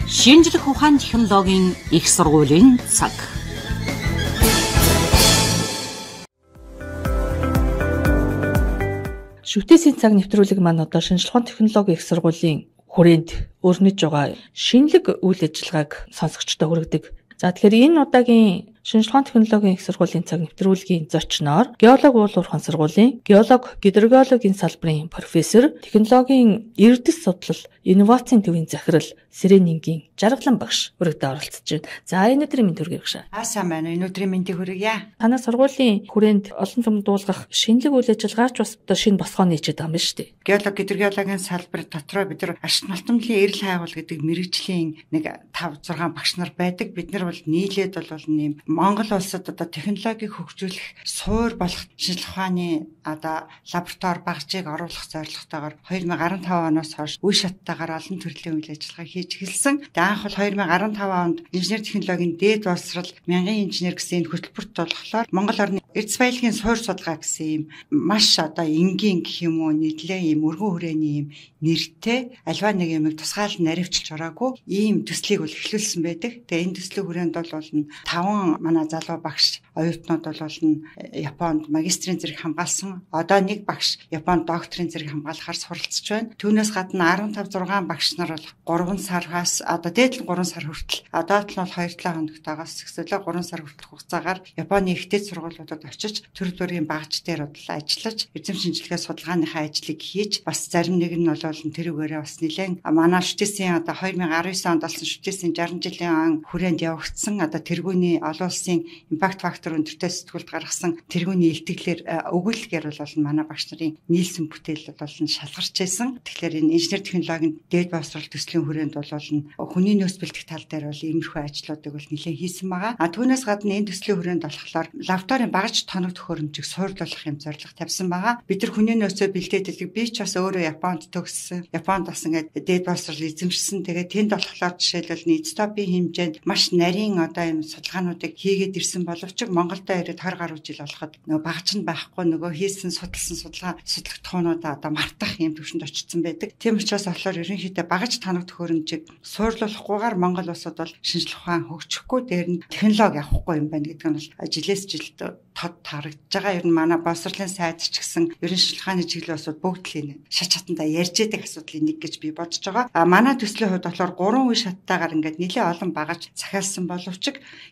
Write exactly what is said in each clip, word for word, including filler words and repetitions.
Шинжлэх ухаан технологийн их сургуулийн цаг. Шүтээсийн цаг нэвтрүүлэг маань одоо шинжлэх ухаан технологийн их сургуулийн хүрээнд өрнөж байгаа шинэлэг үйл ажиллагааг сонсогчдод хүргэдэг. За тэгэхээр энэ удаагийн шинжлэх ухааны технологийн их сургуулийн цаг нэвтрүүлгийн зочноор геолог уулуурхан сургуулийн геолог гидрогеологийн салбарын профессор, технологийн эрдэс судлал, инновацийн төвийн захирал Сэрэнингийн Жаргалан багш өргөдөө оролцож байна. За энэ өдрийн мэнд хүргэе багш. Аа сайн байна. Энэ өдрийн мэндийг хүргье. Танай сургуулийн хүрээнд олон том дуулгах шинэлэг үйл ажиллагаач бас одоо шинэ босгоо нийчээд байгаа юм байна шүү дээ. Геолог гидрогеологийн салбар дотроо бид нар ашиг малтамлын эрэл хайгуул гэдэг мэрэгжлийн нэг тавь зургаан багш нар байдаг. Бид нар бол нийлээд бол нэм Монгол улсад одоо технологиг хөгжүүлэх суур болох шинжлэх ухааны одоо лаборатори багжийг оруулах зорилготойгоор хоёр мың гаруй тав оноос хойш үе шаттайгаар олон төрлийн үйл ажиллагаа хийж эхэлсэн. Тэгээ анх бол хоёр мың гаруй тав онд инженер технологийн дээд боловсрал мянган инженер гэсэн энэ хөтөлбөрт болохоор Монгол орны эрдэс баялагын суур судалгаа гэсэн юм маш одоо энгийн гэх юм уу нийтлээ юм өргөн хүрээний юм нэртэй альва нэг юмыг тусгаал наривчилж ороогүй ийм төслийг бол эхлүүлсэн байдаг. Тэгээ энэ төслийн хүрээнд бол таван манай залуу багш оюутнууд бол Японд магистрийн зэрэг хамгаалсан. Одоо нэг багш Японд докторийн зэрэг хамгаалахаар суралцж байна. Түүнээс гадна арван тав зургаан багш нар бол гурван сараас одоо дээд нь гурван сар хүртэл одоо нь бол хоёр талаа хоногтойгоос эхлээ гурван сар хүртэлх хугацаагаар Японы ихтэй сургуулиудад очиж төр төрийн багж дээр ажиллаж эзэм шинжилгээ судалгааныхаа ажлыг хийж бас зарим нэг нь бол тэрүүгээрээ бас нэлээд манай шүтээсийн одоо хоёр мың арван девять онд болсон шүтээсийн шарсан жилийн ан хүрээнд явагдсан одоо тэргүүний олон улсын импакт фактор өндөртэй сэтгүүлд гаргасан тэргүүний илтгэлээр өгүүлгээр бол манай багш нарын нийлсэн бүтээл бол шалгарч байсан. Тэгэхээр энэ инженер технологийн дээд боловсрол төслийн хүрээнд бол хүний нөөц бэлтгэх тал дээр бол иймэрхүү ажлуудыг бол нэлээд хийсэн байгаа. А түүнээс гадна энэ төслийн хүрээнд болохоор лабораторийн багж тоног төхөөрөмжийг суурилуулах юм зорилго тавьсан байгаа. Бид нар хүний нөөцөө бэлдээдэг. Би ч бас өөрөө Японд төгссөн. Японд бас ингээд дээд боловсрол эзэмшсэн. Тэгээд тэнд болохоор жишээлбэл нийцтопийн хэмжээнд маш нарийн одоо юм судалгаануудыг хийгээд ирсэн боловч Монголдо ирээд хоёр гаруй жил болоход нөгөө багж нь байхгүй нөгөө хийсэн судалсан судалгаа судлах тухуунуудаа одоо мартах юм төвшөнд очсон байдаг. Тийм учраас болохоор ерөнхийдөө багж тоног төхөөрөмжийг суурлуулахгүйгээр Монгол улсад бол шинжлэх ухаан хөгжихгүй дээр нь технологи авахгүй юм байна гэдэг нь бол жилээс жилд тод тарагдж байгаа. Ер нь манай боловсролын сайд ч гэсэн ерөн шинжлэх ухааны чиглэлийн усуд бүгд л энэ шат чатандаа ярьж байгаа асуудлын нэг гэж би бодож байгаа. А манай төслийн хувьд болохоор гурван үе шаттайгаар ингээд нэлээд олон багаж захиалсан боловч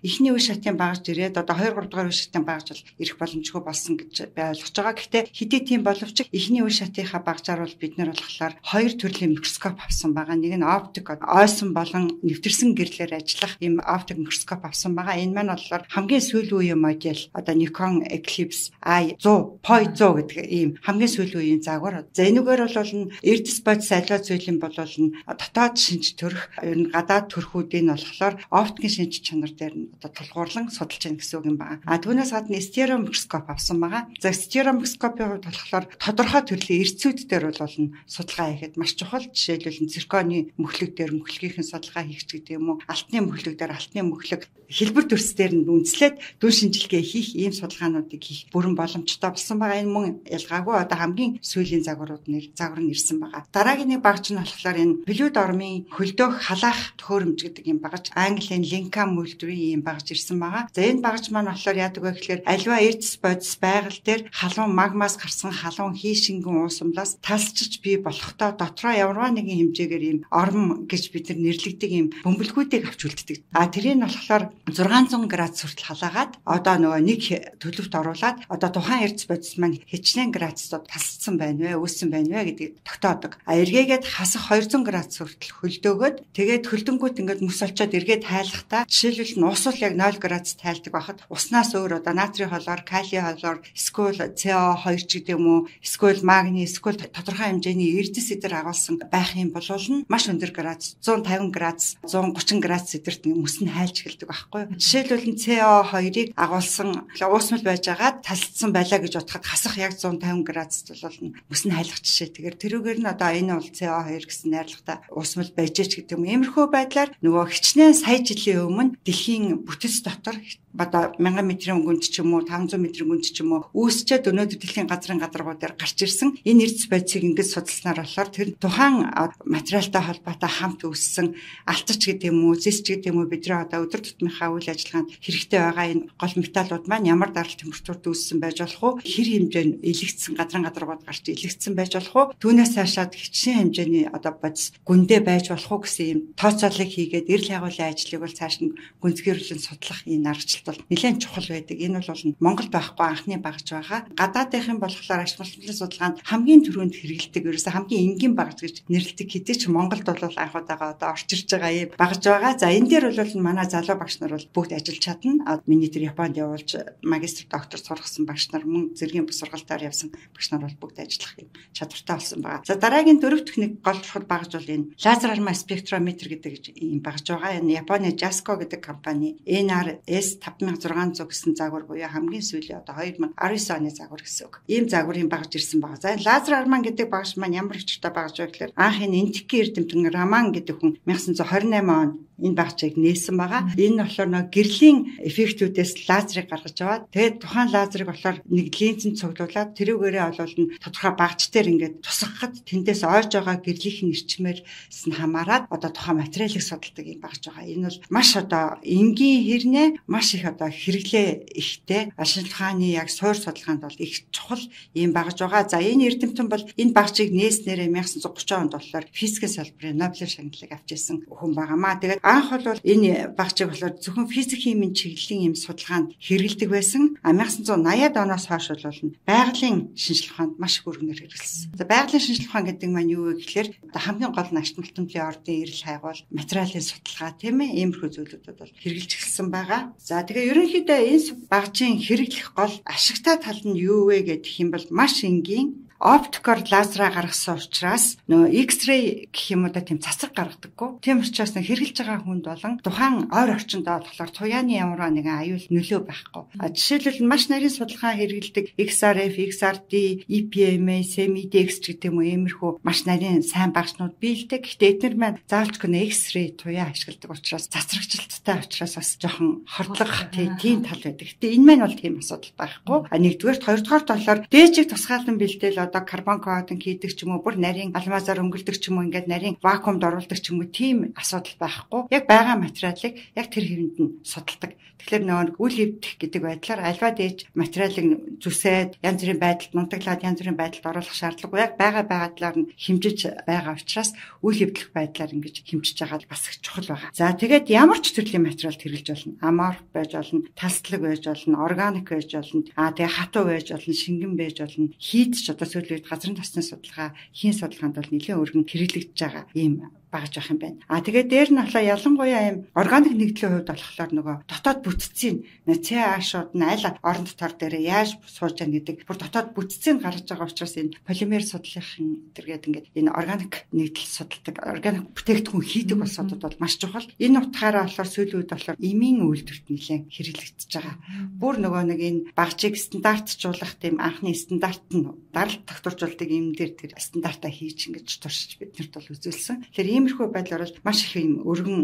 эхний үе шатын багаж ирээд одоо хоёр гурав дахь үе шатын багаж бол ирэх боломжгүй болсон гэж би ойлгож байгаа. Гэхдээ хэдий тийм боловч эхний үе шатынхаа багажаар бол бид нар болохоор хоёр төрлийн микроскоп авсан байгаа. Нэг нь оптик ойсон болон нэвтэрсэн гэрлээр ажиллах ийм оптик микроскоп авсан байгаа. Энэ маань болохоор хамгийн сүүлийн үеийн модель одоо Nikon Eclipse I one hundred зуун гэдэг ийм хамгийн сүүлийн үеийн загвар. За энэгээр бол эрдэс бодис аливаа зүйлийн бол дотоод шинж төрөх ер нь гадаад төрхүүдийн болохоор оптикийн шинж чанар дээр нь одоо тулгуурлан судалж байна гэсэн үг юм байна. А түүнээс гадна стерео микроскоп авсан байгаа. За стерео микроскопын хувьд болохоор тодорхой төрлийн эрцүүд дээр бол судалгаа хийхэд маш чухал. Жишээлбэл цирконы мөхлөг дээр мөхлөгийнхэн судалгаа хийх гэдэг юм уу? Алтны мөхлөг дээр алтны мөхлөг хэлбэр төрс дээр нь үндэслээд дүн шинжилгээ хийх ийм судалгаануудыг хийх бүрэн боломжтой болсон байгаа. Энэ мөн ялгаагүй одоо хамгийн сүүлийн загварууд нэр загвар нь ирсэн байгаа. Дараагийн нэг багж нь болохоор энэ плюд ормын хөлдөөх халаах төхөөрөмж гэдэг юм багж английн линка мөлдрийн ийм багж ирсэн байгаа. За энэ багж маань болохоор яадаг вэ гэхээр аливаа эрдэс бодис байгаль дээр халуун магмаас гарсан халуун хийшингэн уусамлаас талсчиж бий болохдоо дотроо ямарваа нэгэн хэмжээгээр ийм орм гэж бид нар нэрлэгдэг ийм бөмбөлгүүдийг авч үлддэг. А тэрийг нь болохоор зургаан зуун градус хүртэл халаагаад одоо нөгөө нэг төлөвт оруулаад одоо тухайн эрдэс бодис маань хичнээн градусд тасцсан байна вэ, үүссэн байна вэ гэдгийг тогтоодог. А эргээгээд хасах хоёр зуун градус хүртэл хөлдөөгөөд тэгээд хөлдөнгүүт ингээд мөс олчоод эргээд тайлахдаа жишээлбэл ус бол яг ноль градус тайлдаг байхад уснаас өөр одоо натрийн холоор, калий холоор, эсвэл си о two ч гэдэг юм уу, эсвэл магний, эсвэл тодорхой хэмжээний эрдэс эдэр агуулсан байх юм бол маш өндөр градус, one fifty градус, one thirty градус эдэрт мөс нь хайлж эхэлдэг байхгүй юу? Жишээлбэл си о two-ыг агуулсан уусмал байжгаад талцсан байлаа гэж бодоход хасах яг one fifty градуст бол мөс нь хайлах жишээ. Тэгэхээр тэрүүгээр нь одоо энэ бол си о two гэсэн найрлагатай уусмал байжээч гэдэг юм. Иймэрхүү байдлаар нөгөө хичнээн сая жилийн өмнө дэлхийн бүтэц дотор одоо мянган метрийн гүнд ч юм уу таван зуун метрийн гүнд ч юм уу үүсчээд өнөөдөр дэлхийн газрын гадаргууд дээр гарч ирсэн энэ эрдэс байцыг ингэж судалснаар болохоор тэр тухайн материалтай холбоотой хамт үүссэн алтарч гэдэг юм уу зис ч гэдэг юм уу бидний одоо өдөр тутмынхаа үйл ажиллагаанд хэрэгтэй байгаа энэ гол металлууд маань ямар дарал температурт үүссэн байж болох уу хэр хэмжээнд илэгдсэн газрын гадаргууд гарч илэгдсэн байж болох уу түүнээс цаашаад хичнээн хэмжээний одоо бодис гүндээ байж болох уу гэсэн юм тооцоолыг хийгээд эрэл хайгуулын ажлыг бол цааш нь гүнзгийрлэн судлах энэ аргачлал бол нэлээд чухал байдаг. Энэ бол Монгол байхгүй анхны багж байгаа. Гадаадынхын болохоор ашиг боловсролын судалгаанд хамгийн түрүүнд хэрэгэлдэг ерөөсө хамгийн энгийн багж гэж нэрлэдэг хэдий ч Монголд бол анх удаага одоо орж ирж байгаа юм багж байгаа. За энэ дээр бол манай залуу багш нар бол бүгд ажиллаж чадна. Миний тэр Японд явуулж магистр доктор сургасан багш нар мөн зэргийн босрогалтаар явсан багш нар бол бүгд ажиллах юм чадвартай болсон байгаа. За дараагийн дөрөв техник гол чухал багж бол энэ лазер арма спектрометр гэдэг юм багж байгаа. Энэ Японы Jasco гэдэг компани эн ар эс тавд мянга зургаан зуун гэсэн загвар буюу хамгийн сүүлийн одоо хоёр мянга арван девять оны загвар гэсэн үг. Ийм загварын багж ирсэн байгаа. За лазер арман гэдэг багж маань ямар өчтэй багж вэ гэхээр анх энэ энтики эрдэмтэн Раман гэдэг хүн 천ь девятьсот двадцать восемь онд энэ багцыг нээсэн байгаа. Энэ болохоор нэг гэрлийн эффектүүдээс лазерыг гаргаж аваад тэгээд тухайн лазерыг болохоор нэг линзэнд цуглуулад тэрүүгээрээ олвол нь тодорхой багц дээр ингээд тусгахад тэндээс ойж байгаа гэрлийнхэн ирчмээрс нь хамаарад одоо тухайн материалыг судалдаг юм багж байгаа. Энэ бол маш одоо энгийн хэрнээ маш их одоо хэрэглээ ихтэй шинжлэх ухааны яг суур судалгаанд бол их чухал юм багж байгаа. За энэ эрдэмтэн бол энэ багцыг нээснээрээ 천ь девятьсот тридцать онд болохоор физикийн салбарын Нобелийн шагналыг авч ирсэн хүн байгаамаа. Тэгээд анх бол энэ багцыг болохоор зөвхөн физик химийн чиглэлийн юм судалгаанд хэрэгэлдэг байсан. А 천ь девятьсот восемьдесят оноос хойш бол байгалийн шинжлэх ухаанд маш их өргөнөөр хэрэгэлсэн. За байгалийн шинжлэх ухаан гэдэг маань юу вэ гэхээр одоо хамгийн гол нь ашиг малтмлын ордын эрэл хайгуул материалын судалгаа тийм ээ иймэрхүү зүйлүүд бол хэрэгжилж эхэлсэн байгаа. За тэгээ ерөнхийдөө энэ багжийн хэрэглэх гол ашигтай тал нь юу вэ гэдэг юм бол маш энгийн оптикоор лазераа гаргасан учраас нөгөө X-ray гэх юм уу да тийм цацаг гаргадаггүй. Тийм учраас хэрэгжилж байгаа хүнд болон тухайн ойр орчинд болохоор туяаны ямар нэгэн аюул нөлөө байхгүй. А жишээлбэл маш нарийн судалгаа хэрэгэлдэг X R F, X R D, E P M A, SEMIDX гэдэг юм уу иймэрхүү маш нарийн сайн багшнууд биелдэг. Гэхдээ эдгээр маань заавалч гэнэ X-ray туяа ашигладаг учраас цацрагчлалттай учраас бас жоохон хордлох тийм тал байдаг. Гэтэ энэ маань бол тийм асуудал байхгүй. А нэгдүгээр, хоёрдугаар талаар дээжиг тусгаалan бэлдээл одоо карбон коатинг хийдэг ч юм уу бүр нарийн алмазаар өнгөлдөг ч юм уу ингээд нарийн вакуумд оруулдаг ч юм уу тийм асуудал байхгүй. Яг байгаа материалыг яг тэр хэвэнд нь судалдаг. Тэгэхээр нөгөө үл эвдэх гэдэг байдлаар альва дээж материалыг зүсээд янз бүрийн байдалд нунтаглаад янз бүрийн байдалд оруулах шаардлагагүй. Яг байгаа байгадлаар нь хэмжиж байгаа учраас үл эвдэх байдлаар ингэж хэмжиж байгаа бас их чухал байгаа. За тэгээд ямар ч төрлийн материалд хэрэглэж болно. Аморф байж болно, талслаг байж болно, органик байж болно. Аа тэгээ хатуу байж болно, шингэн байж болно. Хийдч одоо сүүлийн үед газрын тосны судалгаа, хийн судалгаанд бол нэлээд өргөн хэрэглэгдэж байгаа ийм багж авах юм байна. А тэгээд дээр нь болохоор ялангуяа юм органик нэгдлийн хувьд болохоор нөгөө дотоод бүтцийн цэ ашууд нь аль орон дотор дээр яаж сууж яана гэдэг бүр дотоод бүтцийг гаргаж байгаа учраас энэ полимер судлалын тэргээд ингээд энэ органик нэгдэл судалдаг, органик бүтээгдэхүүн хийдэг улсуудад бол маш чухал. Энэ утгаараа болохоор сүүлийн үед болохоор эмийн үйлдвэрт нэлээд хэрэглэгдэж байгаа. Бүр нөгөө нэг энэ багжийг стандартжуулах тийм анхны стандарт нь даралт тогтворжуулдаг юм дээр тэр стандартаа хийж ингэж туршиж биднэрт бол үзүүлсэн. Тэгэхээр иймэрхүү байдлаар бол маш их юм өргөн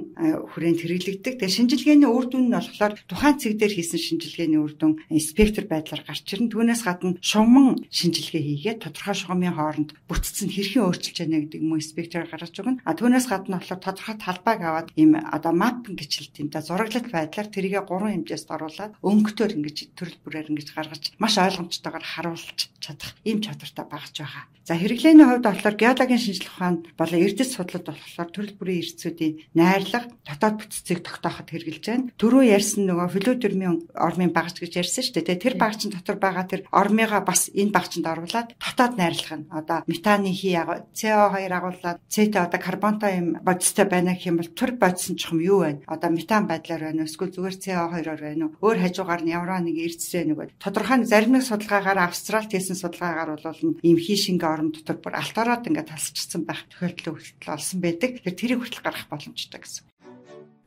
хүрээнд хэрэглэгддэг. Тэгээ шинжилгээний үр дүн нь болохоор тухайн цэг дээр хийсэн шинжилгээний үр дүн спектр байдлаар гарч ирнэ. Түүнээс гадна шугамн шинжилгээ хийгээд тодорхой шугамын хооронд бүтцэн хэрхэн өөрчилж байна гэдэг юм уу спектрээр гаргаж өгнө. А түүнээс гадна болохоор тодорхой талбайг аваад ийм одоо маппинг гэж хэлдэг юм да зураглалт байдлаар тэрийгэ гурван хэмжээст оруулаад өнгөтөр ингэж төрөл бүрээр ингэж гаргаж маш ойлгомжтойгоор харуулж чадах ийм чадвартай багж байгаа. За хэрэглээний хувьд болохоор геологийн шинжилгээ ухаанд болон эрдэс судлалд болохоор төрөл бүрийн эрдцүүдийн найрлага дотоод бүтцийг тогтооход хэрэгжилж байна. Түрүү ярьсан нөгөө флюидермийн ормын багж гэж ярьсан шүү дээ. Тэр багжин дотор байгаа тэр ормыгаа бас энэ багжинд оруулаад дотоод найрлах нь одоо метаны хий си о хоёр агуулад цэт одоо карбонтой юм бодистой байна гэх юм бол тэр бодисон ч юм юу вэ? Одоо метан байдлаар байна уу? Эсвэл зүгээр си о хоёроор байна уу? Өөр хажуугаар нь ямар нэг эрдцээ нэг тодорхой зарим нэг судалгаагаар Австралид хийсэн судалгаагаар бол ийм хий шингээ орон дотор бүр алтараад ингээд тасчихсан байх тохиолдол хүртэл олсон байдаг. Тэр тэрийг хүртэл гаргах боломжтой гэсэн.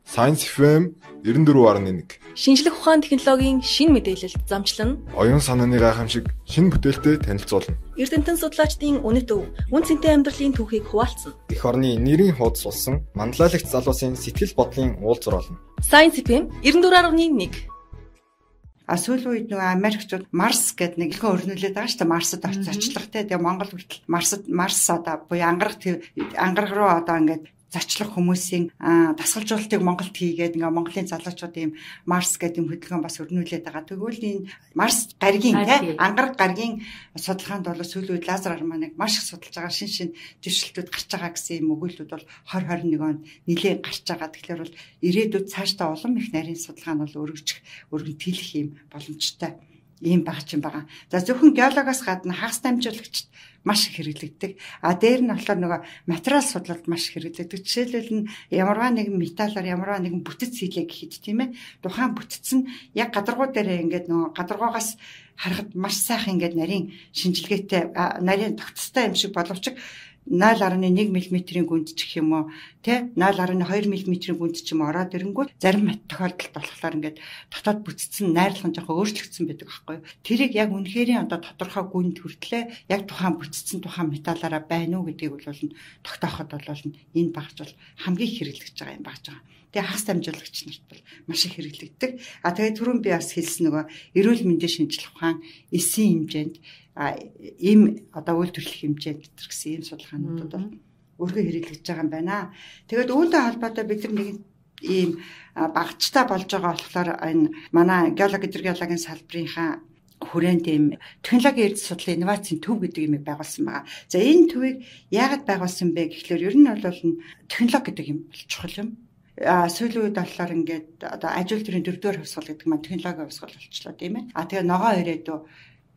Science эф эм девяносто четыре гаруй один. Шинжлэх ухаан технологийн шин мэдээлэлд замчлан Оюун санааны гайхамшиг шинэ бүтээлтэй танилцуулна. Эрдэмтэн судлаачдын үнэт өв, үн цэнтэй амьдралын түүхийг хуваалцсан. Эх орны нэрийн хуудас болсон манлайлагч залуусын сэтгэл бодлын уулзвар болно. Science эф эм девяносто четыре один. А сүүлийн үед нөгөө Америкчууд Марс гэдэг нэг их өрнүүлээд байгаа шүү дээ. Марсад очиж очлогтэй. Тэгээ Монгол хүртэл Марсад Марс одоо буюу ангараг ангараг руу одоо ингээд зочлох хүмүүсийн дасгалжуулалтыг Монголд хийгээд ингээ Монголын залуучууд ийм Марс гэдэг юм хөдөлгөөн бас өрнүүлээд байгаа. Тэгвэл энэ Марс гаригийн тий ангараг гаригийн судалгаанд бол сүүлийн үед лазер арманыг маш их судалж байгаа шин шин дэвшилтүүд гарч байгаа гэсэн юм өгүүлбүүд бол двадцать двадцать один онд нэлээд гарч байгаа. Тэгэхээр бол ирээдүйд цаашдаа улам их нарийн судалгаа нь бол өргөжих, өргөнтгийлэх юм боломжтой ийм баг ч юм байгаа. За зөвхөн геологоос гадна хагас дамжуулагчд маш их хэрэглэгддэг. А дээр нь болохоор нөгөө материал судлалд маш их хэрэглэгддэг. Жишээлбэл нь ямарваа нэгэн металлаар ямарваа нэгэн бүтэц хийлээ гэхэд тийм ээ. Тухайн бүтэц нь яг гадаргуу дээр ингээд нөгөө гадаргуугаас харахад маш сайхан ингээд нарийн шинжилгээтэй нарийн тогтцтой юм шиг боловч ноёл гаруй нэг миллиметрийн гүнд ч гэх юм уу тий ноёл гаруй хоёр миллиметрийн гүнд ч юм ороод ирэнгүүт зарим тохиолдолд болохоор ингээд дотоод бүтцэн найрлах нь жоохон өөрчлөгдсөн байдаг байхгүй юу. Тэрийг яг үнэхэрийн одоо тодорхой гүнд хүртлээ яг тухайн бүтцэн тухайн металлаараа байна уу гэдгийг бол тогтооход бол энэ багж бол хамгийн хэрэглэж байгаа юм багж байгаа. Тэгээ хагас дамжуулагч нарт бол маш их хэрэглэгддэг. А тэгээ түрүүн би бас хэлсэн нөгөө эрүүл мэндийн шинжилгээ ухаан эсийн хэмжээнд ийм одоо үйлдвэрлэх хэмжээнд гэсэн ийм судалгаануудад бол өөргөө хэрэглэж байгаа юм байна. Тэгээд үүнтэй холбоотой бид нар нэг ийм багцтай болж байгаа болохоор энэ манай геологи гидроgeoloгийн салбарынхаа хүрээнд ийм технологийн эрдэс судлалын инновацийн төв гэдэг юм байгуулсан байгаа. За энэ төвийг яагаад байгуулсан бэ гэхлээр ер нь бол технологи гэдэг юм бол чухал юм. А сүүлийн үед болохоор ингээд одоо ажил төрийн дөрөвдүгээр хувьсгал гэдэг маань технологийн хувьсгал болчихлоо тийм ээ. А тэгээ ногоо ирээдүй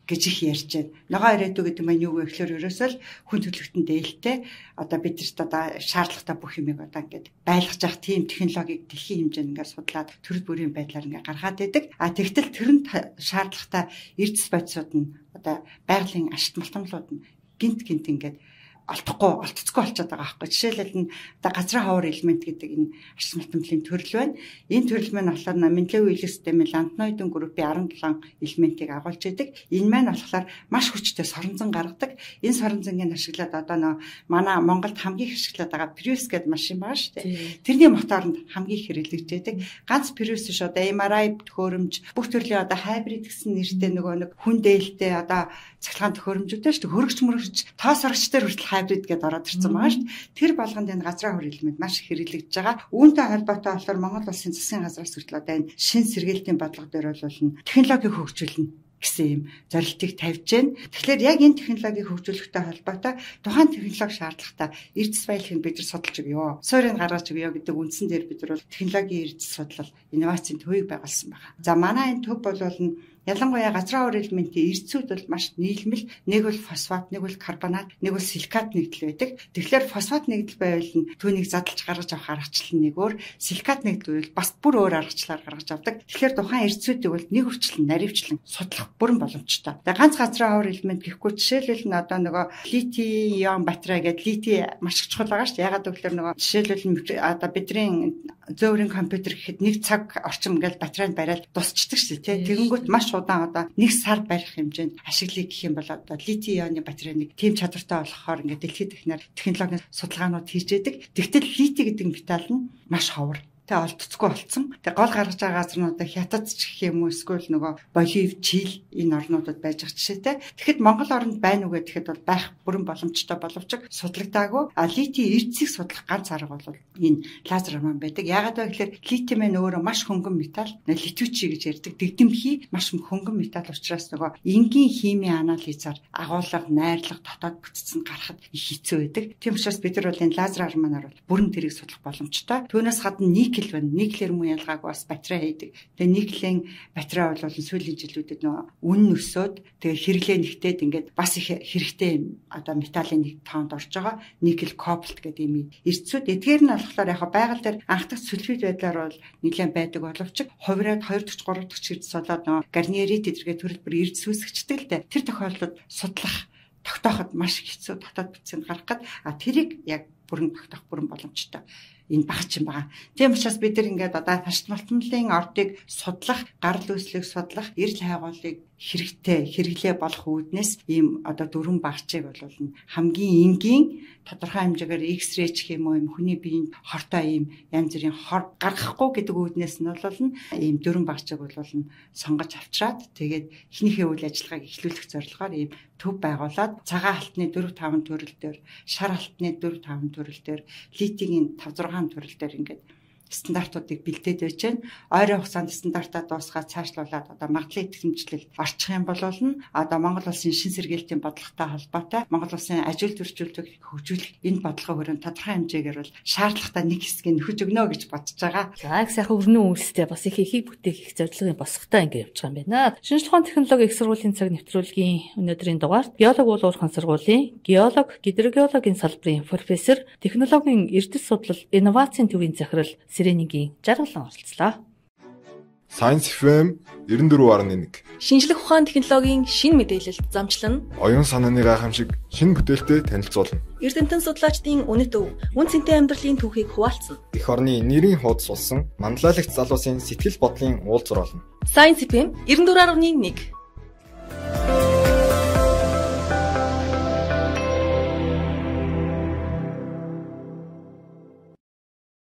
гэж их ярьж байна. Ногоо ирээдүй гэдэг маань юу вэ гэхээр ерөөсөө л хүн төрөлхтөн дээлтэй одоо бидэрт одоо шаардлагатай бүх юмыг одоо ингээд байлгаж явах тийм технологиг дэлхийн хэмжээнд ингээд судлаад төрөл бүрийн байдлаар ингээд гаргаад байдаг. А тэгтэл тэрэнд шаардлагатай эрдэс бодисууд нь одоо байгалийн ашигт малтамлууд нь гинт гинт ингээд олдохгүй олдцгүй болчиход байгаа байхгүй. Жишээлбэл нь одоо газрын ховор элемент гэдэг энэ ашиг малтамлын төрөл байна. Энэ төрөл маань болохоор Менделеев үеийн системийн лантноидын группийн десять seven элементийг агуулж идэг. Энэ маань болохоор маш хүчтэй соронзон гаргадаг. Энэ соронзонгийн ашиглаад одоо нөө манай Монголд хамгийн их ашиглаад байгаа Prius гэдэг машин байгаа шүү дээ. Тэрний моторонд хамгийн их хэрэглэгдэж байдаг. Ганц Prius биш одоо эм ар ай төхөөрөмж бүх төрлийн одоо хайбрид гэсэн нэртэй нөгөө нэг хүн дээлтэй одоо цахилгаан төхөөрөмжүүдтэй шүү дээ. Хөргөч мөргөч тоос орогчтой хүртэл хайбрид гэдээ ороод ирсэн байгаа шүү дээ. Тэр болгонд энэ газрын хор элемент маш их хэрэглэгдэж байгаа. Үүнтэй холбоотой болохоор Монгол улсын засгийн газраас хүртэл одоо энэ шин сэргээлтийн бодлого дээр бол технологиг хөгжүүлнэ гэсэн юм зорилтыг тавьж байна. Тэгэхээр яг энэ технологиг хөгжүүлэхтэй холбоотой тухайн технологи шаардлагатай эрдэс баялагийг бид нар судалж өгөө. Суурийг гаргаж өгөө гэдэг үндсэн дээр бид нар технологийн эрдэс судлал инновацийн төвийг байгуулсан байна. За манай энэ төв бол ялангуяа газрын хор элементийн эрдсүүд бол маш нийлмэл. Нэг бол фосфат, нэг бол карбонат, нэг бол силикат нэгдэл байдаг. Тэгэхээр фосфат нэгдэл байвал түүнийг задлж гаргаж авах аргачлал нэг өөр, силикат нэгдэл бол бас бүр өөр аргачлалаар гаргаж авдаг. Тэгэхээр тухайн эрдсүүдийг бол нэг үрчлэн, наривчлан судлах бүрэн боломжтой. Тэгээ ганц газрын хор элемент гэхгүй жишээлбэл нь одоо нөгөө литий ион батарей гэдэг литий маш их чухал байгаа шүү дээ. Ягаад гэвэл нөгөө жишээлбэл одоо бидний зөөврийн компьютер гэхэд нэг цаг орчим ингээл батарейд бариад дусчдаг шүү дээ. Тэгэнгүүт маш удаан одоо нэг сар барих хэмжээнд ашиглая гэх юм бол одоо литий ионы батарейг тийм чадвартай болохоор ингээд дэлхийд ихнээр технологийн судалгаанууд хийж яадаг. Тэгтэл литий гэдэг металл нь маш ховор. Тэ олдцгүй болцсон. Тэг гол гаргаж байгаа газруудаа Хятад ч гэх юм уу эсвэл нөгөө Боливи, Чили энэ орнуудад байж байгаа жишээтэй. Тэгэхэд Монгол оронд байна уу гэхэд бол байх бүрэн боломжтой боловч судлагдаагүй. А литий эрдсийг судлах ганц арга бол энэ лазер арман байдаг. Яагаад вэ гэхээр литий маань өөрөө маш хөнгөн металл, литүүчи гэж ярьдаг. Дэгдэмхий маш хөнгөн металл учраас нөгөө энгийн химийн анализаар агуулга, найрлага, дотоод бүтцэнд гарахад хэцүү байдаг. Тийм учраас бид нар бол энэ лазер арманаар бол бүрэн тэрийг судлах боломжтой. Түүнээс гадна никель байна. Никелэр муу ялгааг бас батарей хийдэг. Тэгээ никелийн батарей бол сүүлийн жилүүдэд нөгөө үн өсөөд тэгээ хэрэглээ нэгтээд ингээд бас их хэрэгтэй одоо металлын нэг тоонд орж байгаа. Никель кобальт гэдэг юм эрдсүүд. Эдгээр нь болохоор яг байгаль дээр анхдах сульфид байдлаар бол нэлээд байдаг боловч хувираад хоёр дахь гурав дахь эрдс болоод нөгөө гарнierит эдэргээ төрөл бүр эрдс үүсгэжтэй л дээ. Тэр тохиолдолд судлах тогтооход маш хэцүү дотоод бүтцэнд гарах гад а тэрийг яг бүрэн тогтоох бүрэн боломжтой. Энэ багч юм байгаа. Тийм учраас бид нар ингээд одоо таршид малтмлын ордыг судлах, гарал үүслийг судлах, эрэл хайгуулыг хэрэгтэй хэрэглээ болох үүднээс ийм одоо дөрвөн багчийг бол хамгийн энгийн тодорхой хэмжээгээр X-ray гэх юм уу юм хүний биеинд хортой ийм янз бүрийн хор гаргахгүй гэдэг үүднээс нь бол ийм дөрвөн багчийг бол сонгож авчраад тэгээд эхнийхээ үйл ажиллагааг эхлүүлэх зорилгоор ийм төв байгуулад цагаан алтны дөрвөн таван төрөл дээр, шар алтны дөрвөн таван төрөл дээр, литигийн таван зургаан төрөл дээр ингээд стандартуудыг бэлдээд байж байна. Ойрын хугацаанд стандартаа дуусгаад цаашлуулад одоо магадлалын итгэмжлэлд орчих юм бол одоо Монгол улсын шин сэргээлтийн бодлоготой холбоотой Монгол улсын ажил төрөлжүүлэлтийг хөгжүүлэх энэ бодлогын хүрээнд тодорхой хэмжээгээр бол шаардлагатай нэг хэсгийг нөхөж өгнө гэж бодож байгаа. За их сайхан өрнөн үйлстэй бас их ихийг бүтээх их зорилгын босготой ингэ явж байгаа юм байна. Шинжлэх ухааны технологи их сургуулийн цаг нэвтрүүлгийн өнөөдрийн дугаарт геолог уулуурхан сургуулийн геолог, гидрогеологийн салбарын профессор, технологийн эрдэс судлал, инновацийн төвийн захирал Сиренигийн жаргалан оролцлоо. Science эф эм девяносто четыре гаруй один. Шинжлэх ухааны технологийн шин мэдээлэлд замчлан Оюун санааны гайхамшиг шинэ бүтээлтэй танилцуулна. Эрдэмтэн судлаачдын үнэт өв, үн цэнтэй амьдралын түүхийг хуваалцсан. Эх орны нэрийн хуудас болсон манлайлагч залуусын сэтгэл бодлын уулзвар болно. Science эф эм девяносто четыре гаруй один.